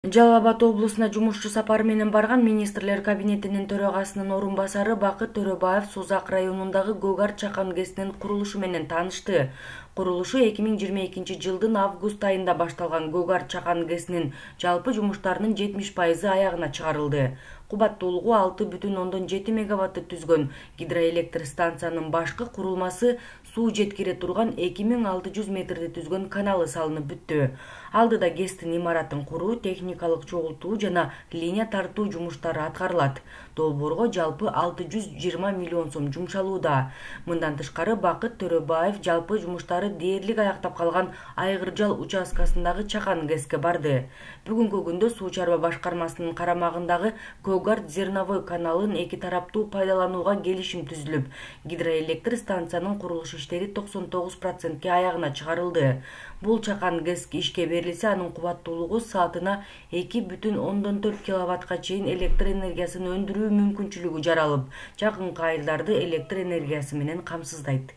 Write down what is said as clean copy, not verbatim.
Жалал Абад облусуна жумушчу сапары менен барган министрлер кабинетинин төрагасынын орун басары Бакыт Төрөбаев Созак районундагы Гөгар чакан ГЭСинин курулушу менен таанышты. Курулушу 2022-жылдын август айында башталган Гөгар чакан ГЭСинин жалпы жумуштарынын 70% аягына чыгарылды. Кубаттуулугу 6,7 мегаватты түзгөн гидроэлектр станциянын башкы курулмасы суу жеткире турган 2600 метрди түзгөн каналы салынып бүттү. Алдыда ГЭСтин имаратын куруу, техникалык чогултуу жана линия тартуу жумуштары аткарылат. Долбоорго жалпы 620 миллион сом жумшалууда. Мындан тышкары Бакыт Төрөбаев жалпы жумуштары дээрлик аяктап калган Айгыржал участкасындагы Чакан ГЭСке барды. Бүгүнкү күндө суу чарба башкармасынын карамагындагы Көгарт зерновой каналын эки тараптуу пайдаланууга келишим түзүлүп, гидроэлектр станциянын курулуш иштери 99%ке аягына чыгарылды. Бул Чакан ГЭС ишке берилсе, анын кубаттуулугу саатына 2,4 киловаттка чейин электр энергиясын өндүрүү мүмкүнчүлүгү жаралып, жакынкы айылдарды электр энергиясы менен камсыздайт.